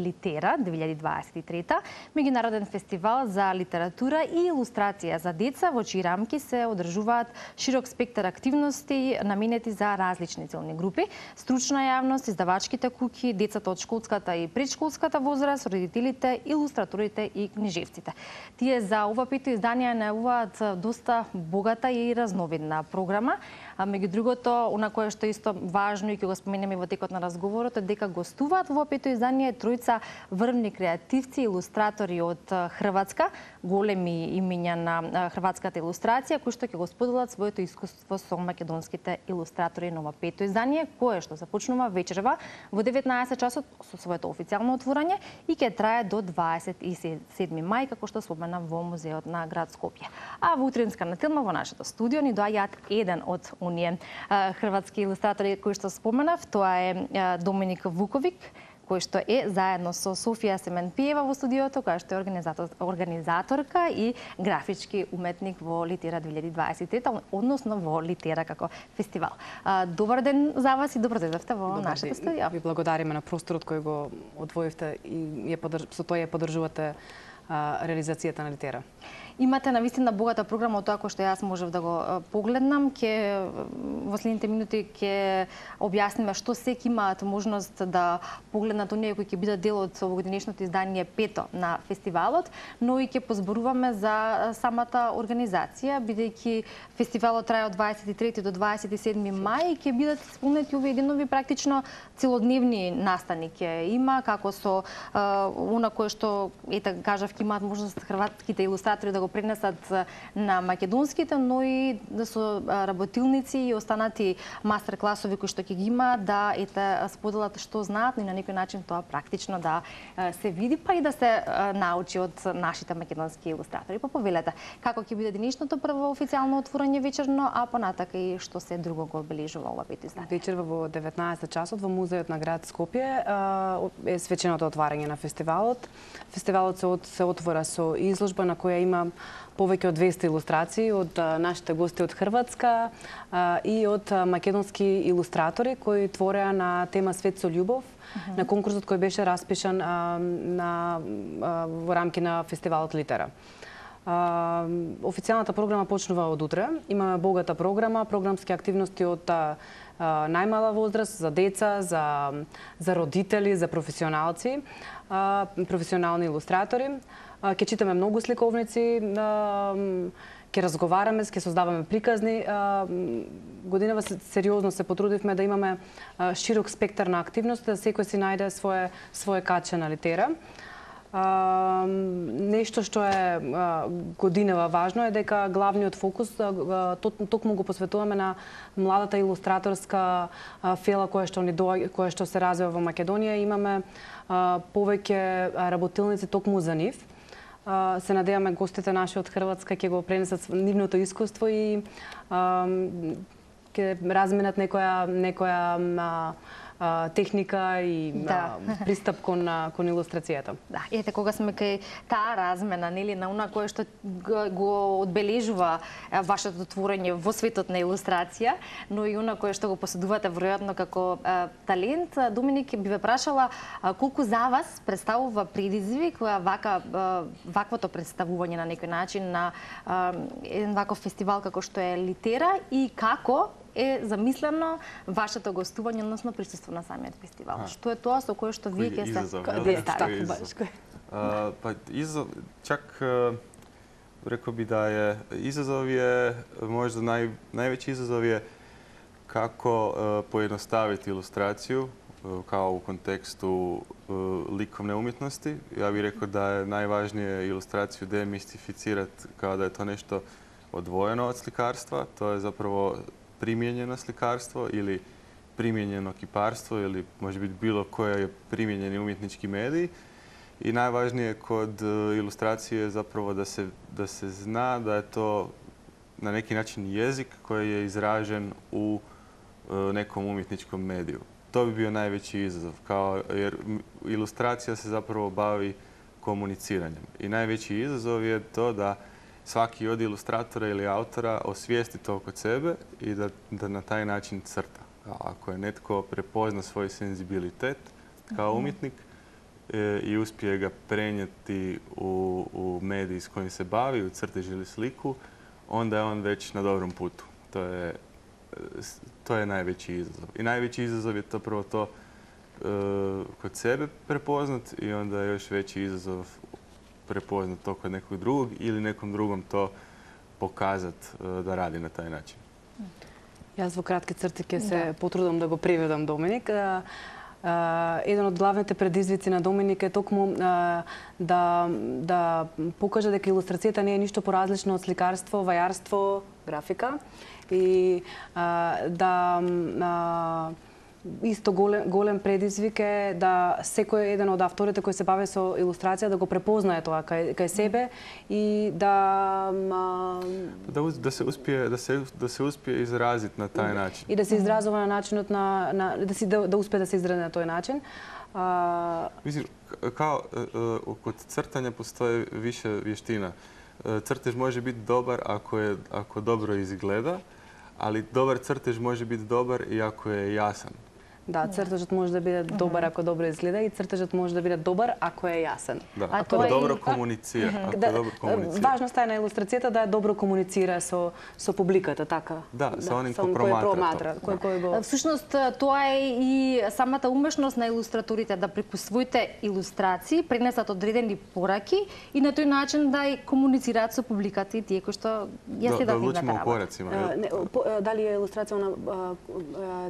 Литера 2023, меѓународен фестивал за литература и илустрација за деца, во чии рамки се одржуваат широк спектар активности наменети за различни целни групи, стручна јавност, издавачките куќи, децата од школската и предшколската возраст, родителите, илустраторите и книжевците. Тие за ова пето издание најавуваат доста богата и разновидна програма. Меѓу другото, она кое што исто важно и ќе го споменеме во текот на разговорот е дека гостуваат во пето издание тројца врвни креативци, илустратори од Хрватска, големи имиња на хрватската илустрација, кои што ќе го споделат своето искуство со македонските илустратори на ова пето издание, кое што започнува вечерва во 19 часот со своето официјално отворање и ќе трае до 27 мај, како што спомена во музеот на град Скопје. А во утринската тема во нашето студио ни доаѓаат еден од оние хрватски илустратори кои што споменав, тоа е Доминик Вуковик, кој што е заедно со Софија Семенпиева во студиото, која што е организаторка и графички уметник во Литера 2023, односно во Литера како фестивал. Добар ден за вас и добро дојдовте во нашето студио. Ви благодариме на просторот кој го одвоивте и со тоа ја поддржувате реализацијата на Литера. Имате навистина богата програма од тоа кој што јас можев да го погледнам. Во следните минути ќе објасниме што секи имаат можност да погледнат оние кои ќе бидат дел од овогодинешното издание пето на фестивалот, но и ќе позборуваме за самата организација, бидејќи фестивалот трае од 23 до 27 мај и ќе бидат исполнети овие денови практично целодневни настани ќе има, како со она кое што кажав ќе имаат можност хрватските илустратори да го пренесат на македонските, но и да со работилници и останати мастер класови кои што ќе ги има да споделат што знаат и на некој начин тоа практично да се види, па и да се научи од нашите македонски илустратори. Па повелете, како ќе биде денешното прво официјално отворање вечерно, а понатака и што се друго го обележува ова пето издание? Вечерва во 19 часот во музеот на град Скопје е свеченото отварање на фестивалот. Фестивалот се отвора со изложба на која има повеќе од 200 илустрации од нашите гости од Хрватска и од македонски илустратори кои твореа на тема Свет со љубов на конкурсот кој беше распишан во рамки на фестивалот Литера. Официјалната програма почнува од утре. Имаме богата програма, програмски активности од најмала возраст, за деца, за родители, за професионалци, професионални илустратори. Ќе читаме многу сликовници, ќе разговараме, ќе создаваме приказни. Годинава сериозно се потрудивме да имаме широк спектар на активности, да секој си најде своje каче на Литера. Нешто што е годинава важно е дека главниот фокус токму го посветуваме на младата илустраторска фела која што се развива во Македонија. Имаме повеќе работилници токму за нив. Се надеваме гостите наши од Хрватска ќе го пренесат нивното искуство и ќе разменат некоја техника и пристап кон илустрацијата. Да, ете кога сме кај таа размена, нели, на она кое што го одбележува вашето творење во светот на илустрација, но и она кое што го поседувате веројатно како талент, Доминик, би ве прашала колку за вас представува предизвик ваквото представување на некој начин на еден ваков фестивал како што е Литера и како е замислено вашето гостување, односно присуство на самиот фестивал. Што е тоа со кое што вие ќе се чак рекол би да е изазов е можда највеќи изазов е како поедноставити илустрацију као у контексту ликовне уметности. Ја би рекол да е најважнije илустрацију демистифицират као да е тоа нешто одвоено од сликарства. Тоа е заправо примјењено сликарство или примјењено кипарство или може би било кој е примјењени уметнички медии. И најважнije код илустрација е заправо да се зна да е то на неки начин језик кој е изражен у неком уметничком медију. Тоа би био највеќи изазов, jer илустрација се заправо бави комуницирањем. И највеќи изазов е то да сваки од илустратора или автора освиести тоа код себе и да на тај начин црта. Ако е нетко препозна свој сензибилитет као уметник, i uspije ga prenijeti u mediji s kojim se bavi, u crtež ili sliku, onda je on već na dobrom putu. To je najveći izazov. I najveći izazov je to prvo to kod sebe prepoznat i onda je još veći izazov prepoznat to kod nekog drugog ili nekom drugom to pokazat da radi na taj način. Јас во кратки црти ќе се потрудам да го преведам Доминик. Еден од главните предизвици на Доминик е токму да покаже дека илустрацијата не е ништо поразлично од сликарство, вајарство, графика и исто голем предизвик е да секој еден од авторите кои се бави со илустрација да го препознае тоа кај себе и да се успие изразит на тај начин. И да се изразува на начинот да успее да се изрази на тој начин. Мислиш, као код цртања постои више вештина. Цртеж може бити добар ако добро изгледа, ali dobar crtež može biti dobar i ako je jasan. Да, цртежот може да биде добар ако добро изгледа и цртежот може да биде добар ако е јасен. Да, ако добро комуницира. Важноста е на илустрацијата да добро комуницира со публиката, така. Да, со оним кој проматра. Всушност, тоа е и самата умешност на илустраторите да преку своите илустрации пренесат одредени пораки и на тој начин да комуницираат со публиката и тие кои што ја следат нивната работа. Дали е илустрација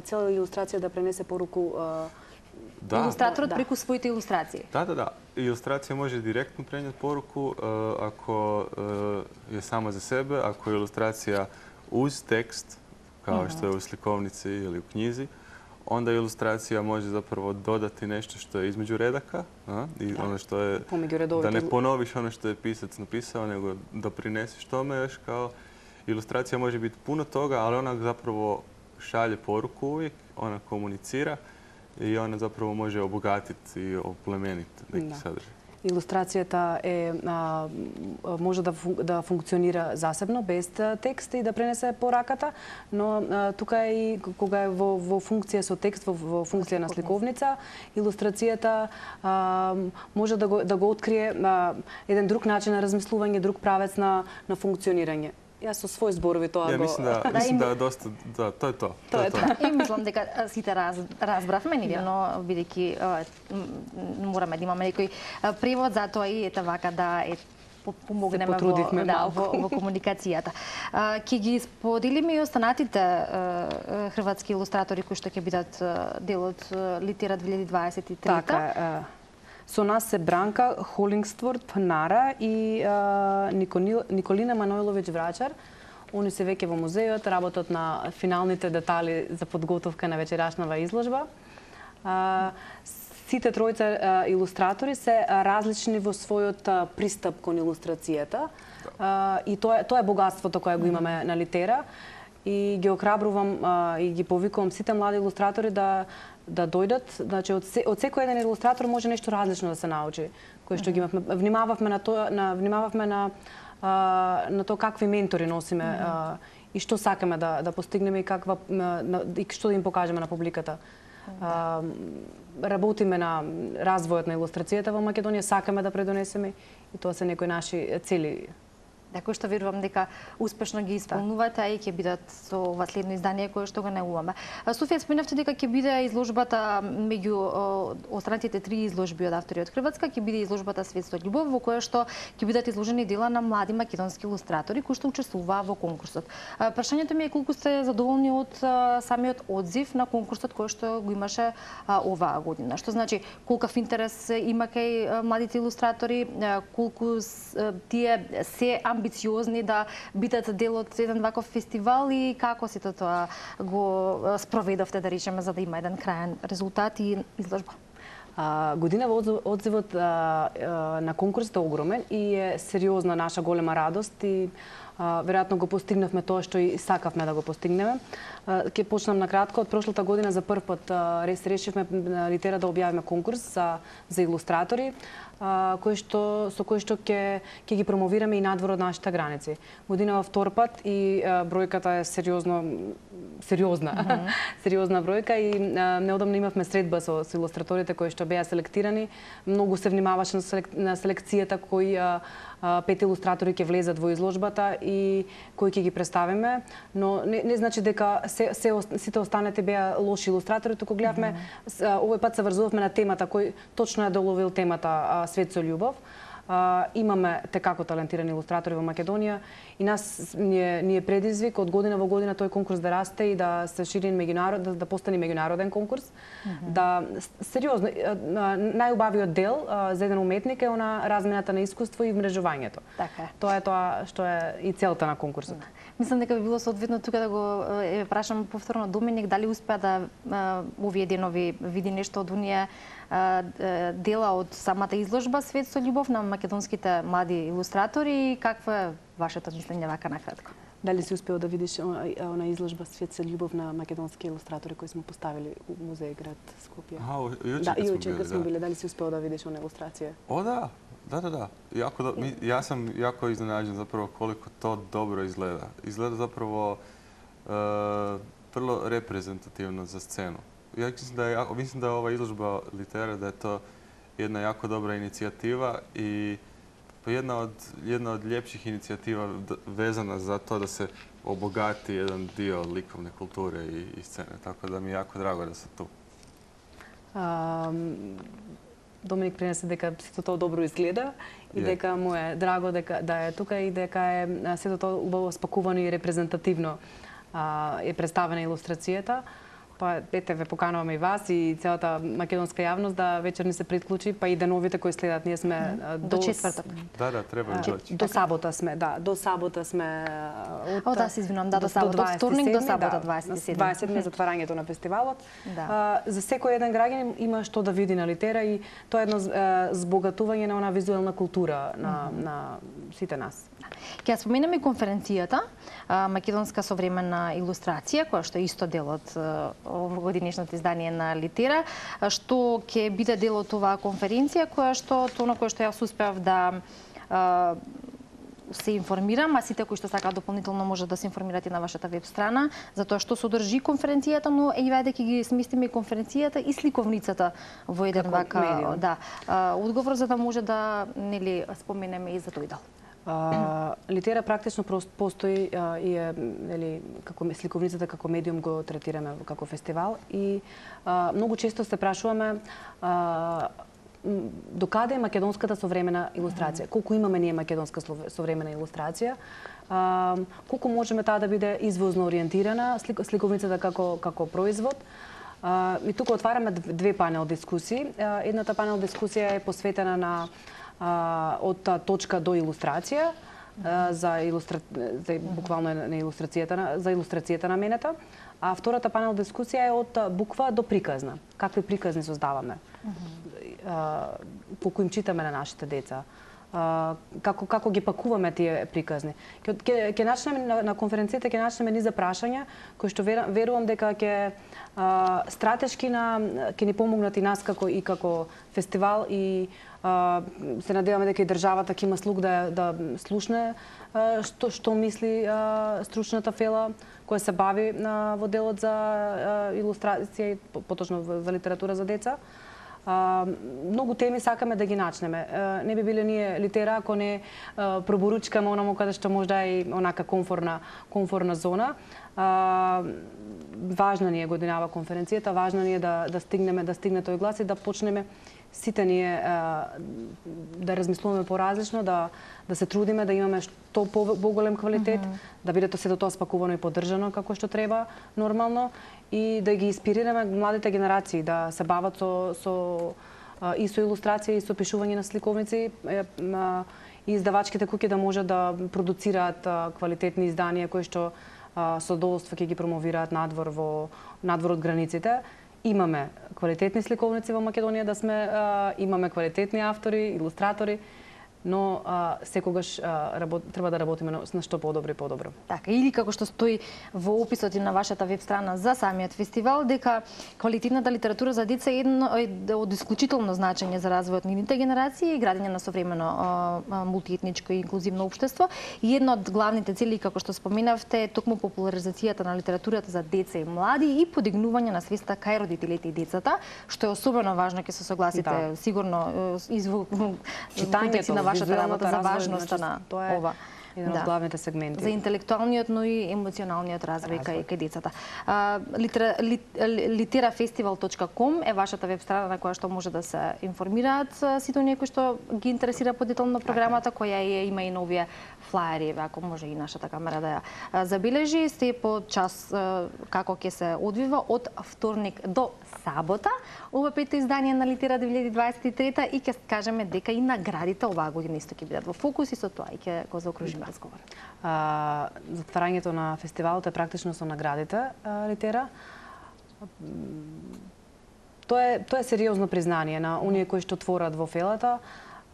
цела илустрација да пренесе поруку илустраторот преку своите илустрации? Да. Илустрација може директно пренет поруку ако е само за себе, ако е илустрација уз текст, као што е у сликовници или у књизи, onda ilustracija može zapravo dodati nešto što je između redaka i ono što je da ne ponoviš ono što je pisac napisao, nego doprineseš tome još kao ilustracija može biti puno toga, ali ona zapravo šalje poruku uvijek, ona komunicira i ona zapravo može obogatiti i oplemeniti neki sadržaj. Илустрацијата може да функционира засебно, без текст и да пренесе пораката, но тука е и кога е во функција со текст, во функција на сликовница, илустрацијата може да го открие еден друг начин на размислување, друг правец на функционирање. Јас со свој зборови тоа го... Мислам да е доста... Да, тоа е тоа. И мислам дека сите разбравме, но бидејќи мораме да имаме некој превод, затоа и ете вака да помогнеме во комуникацијата. Ќе ги споделиме и останатите хрватски илустратори кои што ќе бидат дел од Литера 2023. Така, со нас се Бранка Холингстворт Пнара и Николина Манойловиќ Врачар. Они се веќе во музеот, работат на финалните детали за подготовка на вечерашнава изложба. Сите тројца илустратори се различни во својот пристап кон илустрацијата. И тоа е богатството кое го имаме на Литера. И ги охрабрувам и ги повикувам сите млади илустратори да дојдат, значи од секој еден илустратор може нешто различно да се научи, кој што ги имавме. Внимававме на тоа какви ментори носиме и што сакаме да постигнеме и што да им покажеме на публиката. Работиме на развојот на илустрацијата во Македонија, сакаме да предонесеме и тоа се некои наши цели. Да, кој што верувам дека успешно ги исполнувате, а и ќе бидат со ова следно издание кое што го најуваме. Софија, спомнавте дека ќе биде изложбата меѓу останатите 3 изложби од автори од Хрватска, ќе биде изложбата Свет со љубов, во која што ќе бидат изложени дела на млади македонски илустратори кои што учествуваа во конкурсот. Прашањето ми е колку сте задоволни од самиот одзив на конкурсот кој што го имаше оваа година. Што значи колкав интерес има кај младите илустратори, колку тие се амбициозни да бидат дел од еден ваков фестивал и како сите тоа го спроведовте, да речеме, за да има еден крајен резултат и изложба? Годинава одзивот на конкурсот е огромен и е сериозна наша голема радост и веројатно го постигнавме тоа што и сакавме да го постигнеме. Ќе почнам на кратко. Од прошлата година за прв пат решивме на Литера да објавиме конкурс за илустратори, со кој што ќе ги промовираме и надвор од нашите граници. Годинава втор пат и бројката е сериозна бројка и неодамно имавме средба со илустраторите кои што беа селектирани. Многу се внимаваше на селекцијата кои 5 илустратори ќе влезат во изложбата и кои ќе ги представиме, но не значи дека сите останати беа лоши илустратори, туку гледавме овој пат се врзувавме на темата кој точно ја доловил темата Свет со љубов. Имаме текако талентирани илустратори во Македонија и нас ни е предизвик од година во година тој конкурс да расте и да се шири да постане меѓународен конкурс. Да сериозно најубавиот дел за еден уметник е она размената на искуство и вмрежувањето. Така е. Тоа е тоа што е и целта на конкурсот. Мислам дека би било соодветно тука да го прашам повторно Доминик дали успеа да овие денови види нешто од оние дела од самата изложба Свет со љубов на македонските млади илустратори и какво е вашето мислење вака накратко? Дали си успеал да видиш она изложба Свет со љубов на македонски илустратори кои сме поставили у музеј град Скопје? Јуче сме били. Дали си успеал да видиш она илустрација? О, да. Јас сам јако изненаđен заpravo колико то добро изгледа. Изгледа заpravo vrlo reprezentativno za scenu. Ja mislim da je ova izložba Litera da je to jedna jako dobra inicijativa i jedna od ljepših inicijativa vezana za to da se obogati jedan dio likovne kulture i scene. Tako da mi je jako drago da sam tu. Доминик пренесе дека сето тоа добро изгледа и дека му е драго да е тука и дека е сето тоа убаво спакувано и репрезентативно е представена илустрацијата. Па ете ве покануваме и вас и целата македонска јавност да вечер ни се приклучи, па и деновите кои следат. Ние сме до четврток. Да, треба да дојде. До сабота сме, до сабота сме да се извинувам, до сабота, од вторник до сабота 27. 27 е затварањето на фестивалот. За секој еден граѓанин има што да види на Литера и тоа е едно збогатување на она визуелна култура на сите нас. Ќе споменеме и конференцијата Македонска современна илустрација, која што е исто дел од овогодишното издание на Литера, што ќе биде дел од оваа конференција, која што јас успеав да се информирам, а сите кои што сакаат дополнително може да се информират и на вашата веб страна за тоа што содржи конференцијата, но вајде ќе ги сместиме и конференцијата и сликовницата во еден вака одговор за да може да споменеме и за тој дел. Литера практично постои и е како сликовницата како медиум го третираме како фестивал и многу често се прашуваме докаде е македонската современа илустрација, колку имаме ние македонска современа илустрација, колку можеме таа да биде извозно ориентирана, сликовницата како производ. И тука отвараме две панел дискусии. Едната панел дискусија е посветена на од точка до илустрација, буквално на илустрацијата наменета, а втората панел дискусија е од буква до приказна. Какви приказни создаваме? Колку им читаме на нашите деца? Како ги пакуваме тие приказни? Ќе начнеме на конференцијата, ќе начнеме низа прашања кои што верувам дека ќе стратешки ќе ни помогнат и нас како фестивал и се надеваме дека и државата ќе има слух да слушне што мисли стручната фела која се бави во делот за илустрација и поточно за литература за деца. Многу теми сакаме да ги начнеме. Не би биле ние Литера ако не проборучкаме онаму каде што можда е онака комфорна зона. Важна ни е годинава конференцијата, важно ни е да стигне тој глас и да почнеме сите ние да размислуваме поразлично, да се трудиме да имаме што поголем квалитет, да биде сето тоа спакувано и поддржано како што треба нормално и да ги инспирираме младите генерации да се бават со илустрација и со пишување на сликовници и издавачките куќи да можат да продуцираат квалитетни изданија кои што со задоволство ќе ги промовираат надвор од границите. Имаме квалитетни сликовници во Македонија имаме квалитетни автори, илустратори но секогаш треба да работиме на што подобро и подобро. Така, или како што стои во описот и на вашата веб страна за самиот фестивал, дека квалитетната литература за деца е од исклучително значење за развојот на нивните генерации и градење на современо мултиетничко и инклузивно општество. И една од главните цели, како што споменавте, е токму популаризацијата на литературата за деца и млади и подигнување на свеста кај родителите и децата, што е особено важно, ќе се согласите сигурно читањето на вашата работа за важноста на ова. Еден од главните сегменти. За интелектуалниот, но и емоционалниот развој кај децата. Literafestival.com е вашата веб страна на која што може да се информираат сите оние кои што ги интересира подетелно програмата, која има и новија флаери, ако може и нашата камера да ја забележи. Сте по час како ќе се одвива од вторник до сабота. Ова пето издание на Литера 2023 и ќе кажеме дека и наградите оваа година исто ќе бидат во фокус и со тоа и ќе го заокружиме разговор. Затварањето на фестивалот е практично со наградите Литера. Тоа е сериозно признание на оние кои што творат во фелата.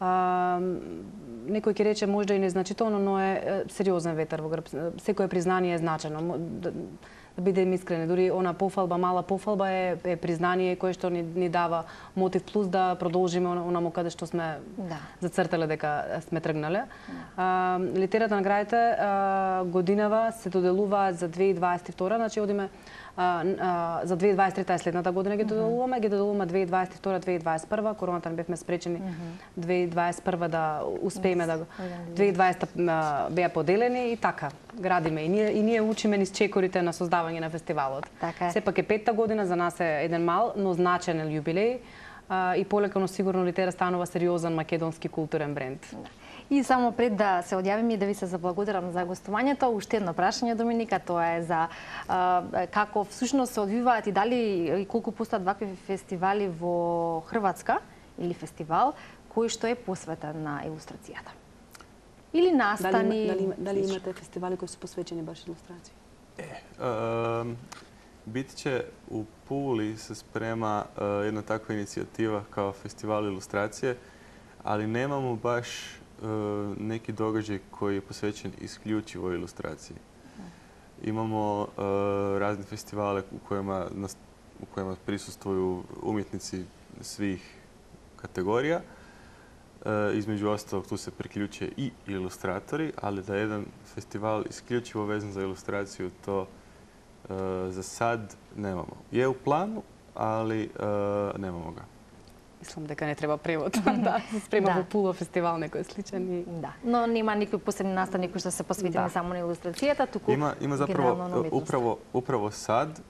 Некој ќе рече можда и незначително, но е сериозен ветер во грб. Секое признание е значено. Да бидем искрени, дури она пофалба, мала пофалба е признание кое што ни дава мотив плюс да продолжиме онаму каде што сме зацртале дека сме тргнале. Литерата наградите годинава се доделуваат за 2022, значи одиме за 2023 е следната година ги доделуваме 2022-2021, короната не бевме спречени 2021 да успееме да 2020 беа поделени и така градиме и ние учиме низ чекорите на создавање на фестивалот. Сепак е петта година, за нас е еден мал, но значен јубилеј и полека но сигурно Литера станува сериозен македонски културен бренд. И само пред да се одјавим и да ви се заблагодарам за гостувањето, уште едно прашање, Доминика, тоа е за како всушност се одвиваат и дали и колку постојат вакви фестивали во Хрватска или фестивал кој што е посветен на илустрацијата. Или настани. Дали имате фестивали кои се посветени баш илустрација? Бит ќе у Пули се спрема една таква иницијатива као фестивал илустрација, али немамо баш неки догаđај кој е посвечен исклучиво илустрацији. Имамо разни фестивале у којima присуствуju умjetници свих категорија. Измеѓу осталог ту се приклуче и илустратори, али да еден фестивал исклучиво везен за илустрацију, то за сад немамо. Е у плану, али немамо ga. Мислам дека не треба превод. Да, се спрема во Пула фестивал некој сличен и но нема никои посебни настани кои што се посветени само на илустрацијата, туку има заправо управо сад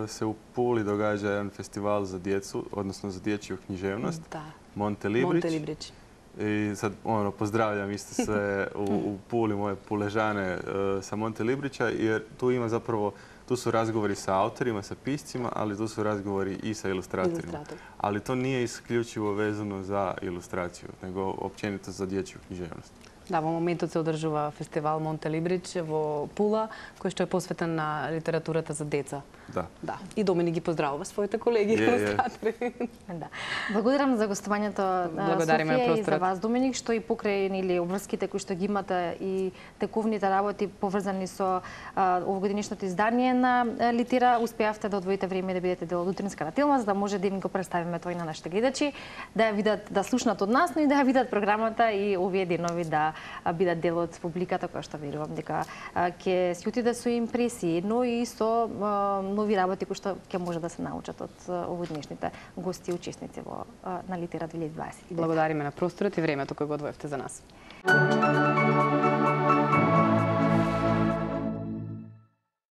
се у Пули догаѓа еден фестивал за децу, односно за дечју книжевност. Монте Либрич. И сад поздравljam isto sve u Puli, moje Puležane sa Monte Librića, jer tu ima zapravo, tu su razgovori sa autorima, sa piscima, ali tu su razgovori i sa ilustratorima. Ali to nije isključivo vezano za ilustraciju, nego općenito za dječju književnost. Да, во моментот се одржува фестивал Монте Либрич во Пула, кој што е посветен на литературата за деца. Да. И Доминик ги поздравува своите колеги илустратори. Да. Благодарам за гостувањето Софија и за вас, Доминик, што и покрај или обврските кои што ги имате и тековните работи поврзани со овогодишното издание на Литера, успеавте да одвоите време да бидете дел од утринската телма, за да може да им го представиме тој на нашите гледачи, да ја видат, да слушнат од нас, но и да ја видат програмата и овие денови да бидат дел од публиката, која што верувам дека ќе се отиде со импресии, но и со нови работи кои што ќе може да се научат од овогодишните гости и учесници на Литера 2020. Благодариме на просторот и времето кој го одвоевте за нас.